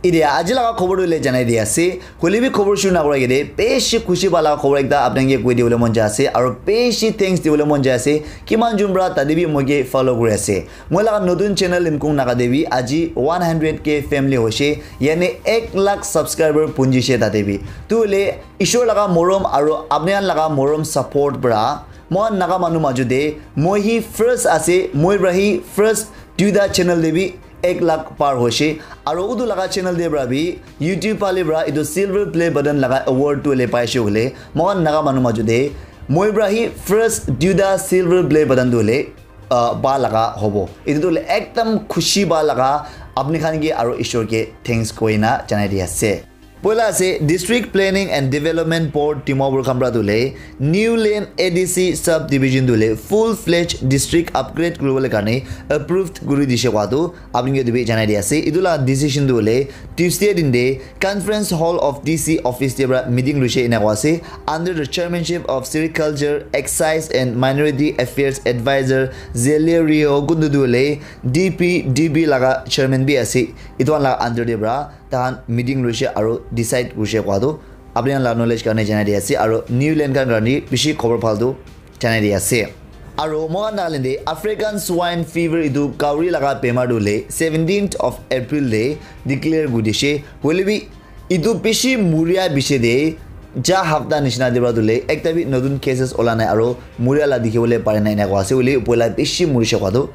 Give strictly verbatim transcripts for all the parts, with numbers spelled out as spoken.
Idia aji laga khobor tu le janai di ase. Hoile bi khobor shuru na kora ke de, beshi khushi pala khobor ekta apni ke koi dibole mon jai ase. Aro beshi thanks dibole mon jai ase. Kiman jun pra tate bi moi ke follow kuri ase. Moi laga notun channel Limkung Naga te bi aji one hundred K family hoishe. Yani ek lakh subscriber punjishe tate bi. Tu le Ishwar laga morom aro apni khan laga morom support pra. Moi Naga manu maju de. Moi hi first ase. Moi pra hi first duita channel de bi ek lakh par hoishe. Aro utu laga channel de pra bi YouTube pale pra itu silver play button laga award tu le paishe hole. Moi Naga manu maju de. Moi pra hi first duita silver play button tu le uh, ba laga hobo. Itu tu le ekdam khushi ba laga apni khan ke aro Ishwar ke thanks koina janai di ase. Poila ase District Planning and Development Board Dimapur Khamra tu le New Lane A D C Subdivision tu le full fledged district upgrade kuribole karne approved kuri dishe koa tu apni ke dibi janai di ase. Itu la decision tu le Tuesday din de Conference Hall of D C office te pra meeting luishe ena koa ase. Under the chairmanship of Sericulture, Excise and Minority Affairs Advisor Zelerio kundu tu le D P D B laga chairman bi ase. Itu khan laga under te pra tahan meeting luishe aro decide kurishe koa tu apni khan la knowledge karne janai di ase. Aro New Lane khan karne bishi khobor phal tu janai di ase. Aro moi khan Nagaland te African Swine Fever itu kauri laga bemar tu le seventeenth of April te declare kuri dishe. Hoile bi itu bishi muria bishi de ja hapta nishina de pra tu le ekta bi notun cases ola nai aro muria la dikhi bole pare nai ena koa ase. Hoile poila bishi murishe koa tu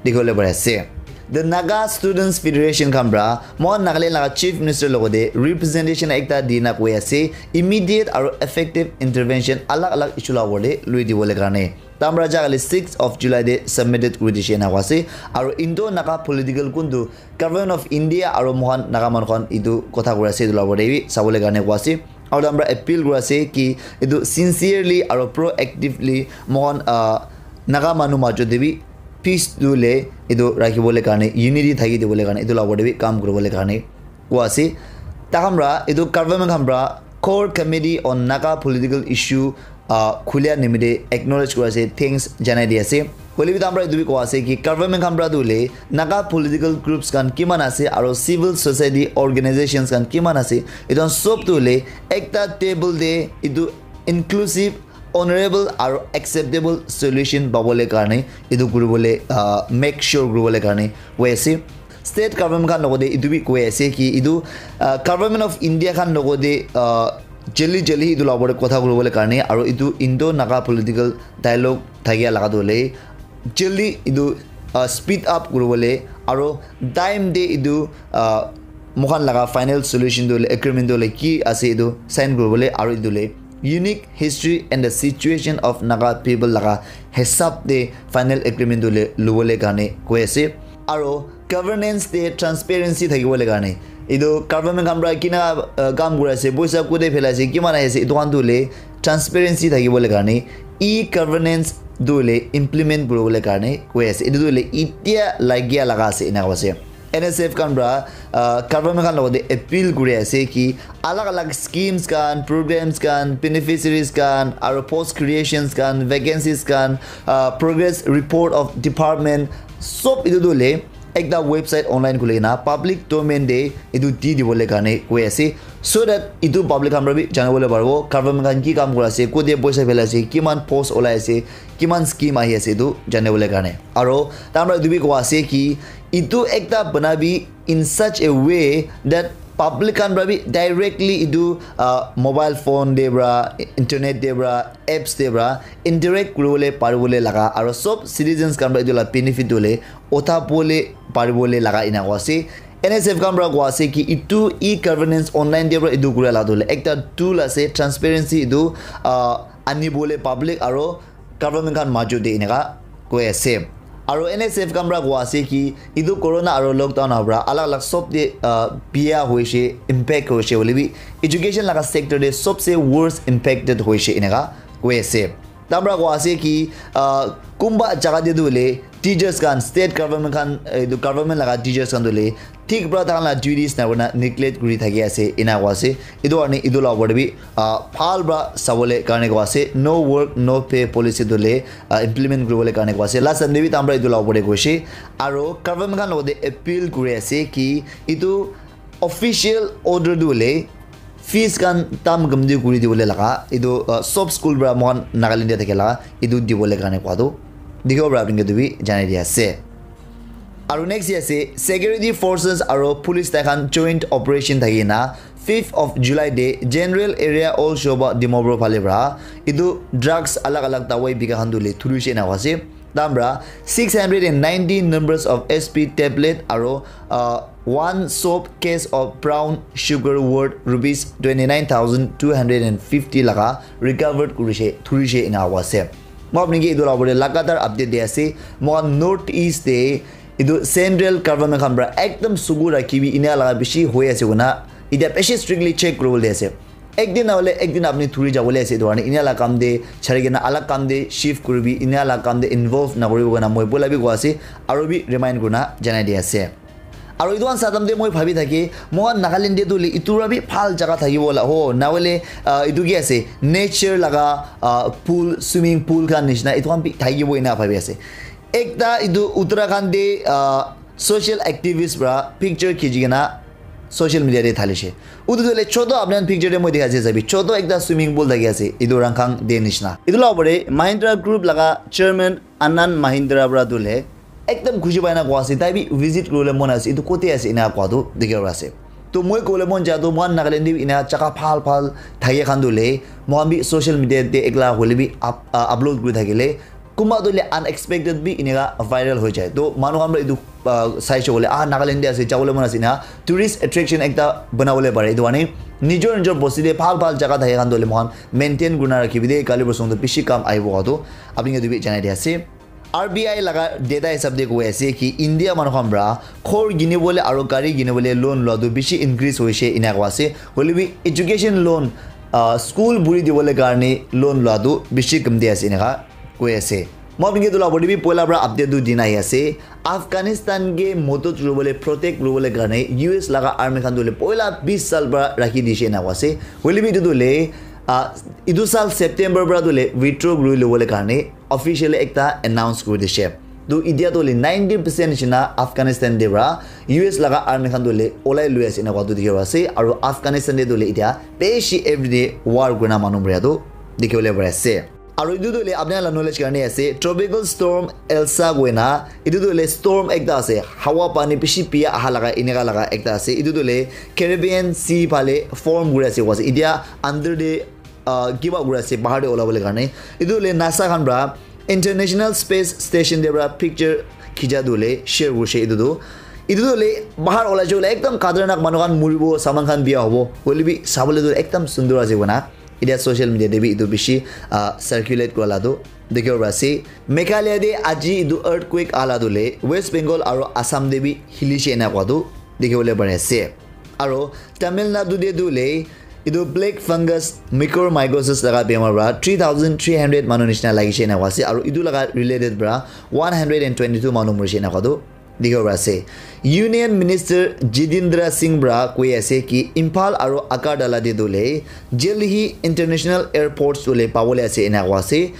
dikhi bole pare ase. The Naga Students Federation khan pra moi Nagaland laga Chief Minister logote representation ekta dina koi ase, immediate aro effective intervention alag alag issue la opor te lui dibole karne. Tamra jagale sixth of July te submitted kuri dishe ena koa ase. Aro Indo Naga political kuntu Government of India aro mohan Naga manu khan itu kotha kuri ase itu la opor te bi sabole karne koa ase. Aro tamra appeal kuri ase ki itu sincerely aro proactively mohan uh, Naga manu majo te bi peace tu le itu rakhi bole karne, unity thaki dibole karne itu la opor te bi kam kuri bole karne koa ase. Takhan pra itu government khan pra Core Committee on Naga Political Issue uh, khulia nimite acknowledge kura ase, thanks janai di ase. Hoile bi tamra itu bi koa ase ki government khan pra tu le Naga political groups khan kiman ase aro civil society organizations khan kiman ase, itu khan sob tu le ekta table te itu inclusive, honorable aro acceptable solution pabole karne itu kuribole uh, make sure kuribole karne koi ase. State government khan logote itu bi koi ase ki itu uh, government of India khan logote uh, jali jali itu la opor te kotha kuribole karne aro itu Indo Naga political dialogue thakia laga tu le jali itu uh, speed up kuribole aro time te itu uh, mohan laga final solution tu le agreement tu le ki ase itu sign kuribole aro itu le unique history and the situation of Naga people laga hisab te final agreement tu le lubole karne koi ase. Aro governance te transparency thakibole karne itu government khan pra kina uh, kam kuri ase, poisa kute phelai ase, kiman ahi ase, itu khan tu le transparency thakibole karne e-governance tu le implement kuribole karne koi ase. Itu tu le itia lagia laga ase ena koi ase. N S F khan pra uh, government khan logote appeal kuri ase ki alag alag schemes khan, programs khan, beneficiaries khan aro post creations khan, vacancies khan, uh, progress report of department, sob itu tu le ekta website online khuli na public domain te itu di dibole karne koi ase, so that itu public khan pra bi janibole paribo government khan ki kam kuri ase, kote poisa phelai ase, kiman post olai ase, kiman scheme ahi ase itu janibole karne. Aro tamra itu bi koa ase ki itu ekta banabi in such a way that public khan pra bi directly itu uh, mobile phone te pra, internet te pra, apps te pra interact kuribole paribole laga aro sob citizens khan pra itu la benefit hole utha pole paribole laga ena koa ase. N S F khan pra koa ase ki itu e-governance online te pra itu kura la tu le ekta tool ase, transparency itu uh, anibole public aro government khan majo te eneka koi ase. Aro N S F khan pra koa ase ki itu corona aro lockdown ahi pra alag alag sob te uh, biya hoishe, impact hoishe hoile bi education laga sector te sobse worst impacted hoishe eneka koi ase. Tamra koa ase ki uh, kumba jaga te tu le teachers khan, state government khan, itu government laga teachers khan tu le thik pra takhan la duties na kurina neglect kuri thaki ase ena koa ase. Itu karne itu la opor te bi uh, bhal pra sabole karne koa ase, no work no pay policy tu le uh, implement kuribole karne koa ase. Last time te bi tamra itu la opor te koishe. Aro government khan logote appeal kuri ase ki itu Official order tu hoile fees khan tam gam di kuri dibole laga etu uh, sob school para mohan Nagaland te thakila etu dibole karne koa tu dikhibo para apni khan bi janai di ase. Aru next di ase security forces aru police tai khan joint operation thaki na fifth of July te general area all shoba Dimapur phale para etu drugs alag alag dawai bika khan tu le thuri she na ase. Dam para six hundred and ninety numbers of S P tablet aru uh, one soap case of brown sugar worth rupees twenty nine thousand two hundred and fifty laga recovered kurishe thurishe ena hobo ase. Moi apni ke etu la opor te lagatar update di ase. Moi north east te etu central government khan para ekdam sugu rakhibi ena laga bishi hoi ase koina eta bishi strictly check kuribole ase. Ek din nahole ek din apni thuri jabole ase etu karne enia la kam te chari kena alak kam te shift kuribi enia la kam te involve nakuribo koina moi poila bi koa ase aru bi remind kurina janai di ase. Aru etu khan sadam te moi bhabi thaki moi khan Nagaland te tu hoile etu para bi bhal jaga thakibo la ho nahole ah, etu ki ase nature laga ah, pool swimming pool khan nishina etu khan bi thakibo ena bhabi ase. Ekta etu Uttarakhand te ah, social activist para picture khichi kena social media te thalishe. Utu tu le choto apni khan picture te moi dikha ase sabi choto ekta swimming pool thaki ase etu Rangkhang te nishina. Etu la opor te Mahindra Group laga chairman Anand Mahindra para tu le ekdam khushi pai na koa ase tai bi visit kuribole mon ase etu kote ase ena koa tu dikhibo ase. To moi kobole mon ja tu moi khan Nagaland te bi ena jaga bhal bhal thake khan tu le moi khan bi social media te ekla hoile bi up- uh, upload kuri thakile kunba tu le unexpected bi eneka viral hoi jai to manu khan para etu uh, sai she kole ah Nagaland te ase jabole mon ase ena tourist attraction ekta banabole pare etu karne nijor nijor bosti te bhal bhal jaga thake khan tu le moi khan maintain kurina rakhibi de kali bosong tu bishi kam ahibo koa tu apni khan etu bi janai di ase. R B I laga data hisab te koi ase ki India manu khan para ghor kinibole aru gari kinibole loan lua tu bishi increase hoise ena koa ase. Hoile bi education loan uh, school buri dibole karne loan lua tu bishi kam di ase eneka koi ase. Moi apni ke etu la opor te bi poila para update tu dina ahi ase. Afghanistan ke modot kuribole protect kuribole karne U S laga army khan tu le poila bis sal para rakhi dishe ena koa ase. Hoile bi etu tu le ah, etu sal September para tu le withdraw kuri lobole karne officially ekta announce kuri dishe. Tu etia tu le ninety percent nishina Afghanistan te para U S laga army khan tu le olai lui ase ena koa tu dikhibo ase aru Afghanistan te tu le etia bishi everyday war kurina manu maria tu dikhibole pari ase. Aru etu tu le apni khan la knowledge karne ase tropical storm Elsa koina etu tu le storm ekta ase hawa pani bishi pia aha laga eneka laga ekta ase etu tu le Caribbean Sea phale form kuri ase koa ase etia under te uh, give up kuri ase bahar te olabole karne etu le NASA khan para International Space Station te para picture khicha tu le share kurise etu tu etu tu le bahar olai jabole ekdam khatarnak manu khan muribo saman khan biya hobo hoile bi sabole tu ekdam sundor ase koina etia social media te bi etu bishi uh, circulate kura la tu dikhibo pari ase. Meghalaya te aji etu earthquake ala tu le West Bengal aru Assam te bi hilishe ena koa tu dikhibole pari ase. Aru Tamil Nadu te tu le etu black fungus mycorrhizosis laga bemar para three thousand three hundred manu nishina lagishe ena koa ase aru etu laga related para one hundred and twenty two manu murishe ena koa tu dikhibo pari ase. Union Minister Jitendra Singh para koi ase ki Imphal aru Agartala te tu le jaldi hi international airports tu le pabole ase ena koa ase.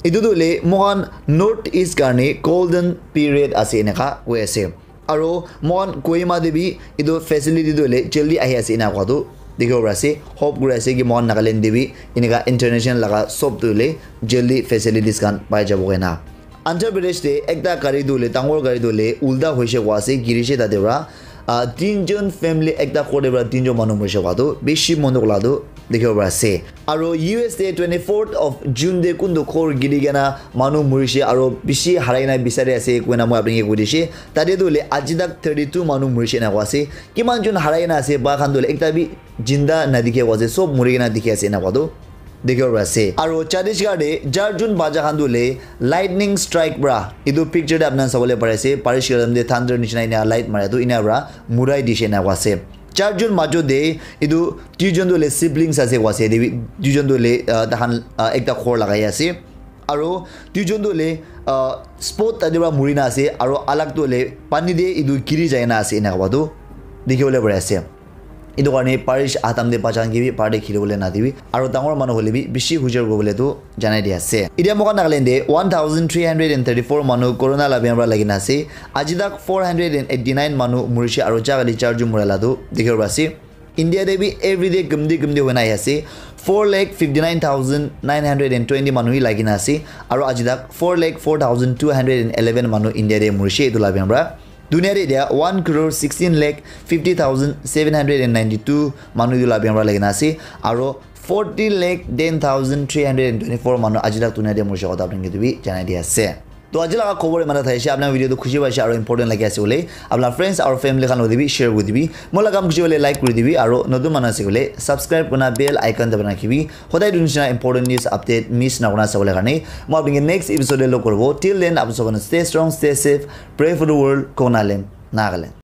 Etu tu le moi khan North East karne golden period ase eneka koi ase. Aru moi khan Kohima te bi etu facility tu hoile jaldi ahi ase ena koa tu dikhibo pari ase. Hope kuri ase ki moi khan Nagaland te bi eneka international laga sob tu hoile jaldi facilities khan pai jabo koina. Andhra Pradesh te ekta gari tu hoile dangor gari tu hoile ulta hoise koa ase girise tate para ah, tinjon family ekta ghor te para tinjon manu morise koa tu bishi mon dukh la tu dikhibo pari ase. Aru U S te twenty fourth of June te kuntu ghor giri kena manu murishe aru bishi harai kena bisari ase koina moi apni ke koi dishe. Tate tu hoile aji tak thirty two manu murishe ena koa ase. Kiman jon harai kena ase ba khan tu hoile ekta bi jinda nadikhe koa ase sob muri kena dikhi ase ena koa tu dikhibo pari ase. Aru Chhattisgarh te char jon bacha khan tu hoile lightning strike para etu picture te apni khan sabole pari ase barish ke time te thunder nishina ena light mara tu ena para murai dishe ena koa ase. Char jon majot te etu duijon tu hoile siblings ase koa ase ete bi duijon tu hoile ah, tahan ah, ekta ghor lagai ase aru duijon tu hoile ah, spot tate para muri na ase aru alag tu hoile pani te etu giri jai na ase ena koa tu dikhi bole pari ase. Etu karne parish atam te bacha khan ke bi bahar te kheli bole na dibi. Aru dangor manu hoile bi bishi hujor kuri bole tu janai di ase. Etia moikhan Nagaland te one thousand three hundred and thirty-four manu corona la bemar lagi na ase. Aji tak four hundred and eighty-nine manu murishe aru jaga te charjon mura la tu dikhi bo ase. India te bi everyday kumdi kumdi hoi na ahi ase. Four lakh fifty-nine thousand nine hundred and twenty manu hi lagi na ase. Aru aji tak four lakh four thousand two hundred and eleven manu India te murishe etu la bemar. Dunia te dia one crore sixteen lakh fifty thousand seven hundred and ninety-two manu etu la bemar lagi na ase. Aru forty lakh ten thousand three hundred and twenty-four manu aji tak dunia te murishe kotha apni ke tu bi janai di ase. To aji laga khobor imana thaise, apna video tu khushi paise aru important lagi ase bole, apna friends aru family khan loti bi share kuri dibi. Moi laga kam khushi bole like kuri dibi aru notun manu ase bole subscribe kurna bell icon dabai na rakhibi. Hodai dunishina important news update miss na kurna sabole karne. Moi apni ke next episode te log koribo. Till then, apni sabon stay strong, stay safe, pray for the world, Konaland, Nagaland.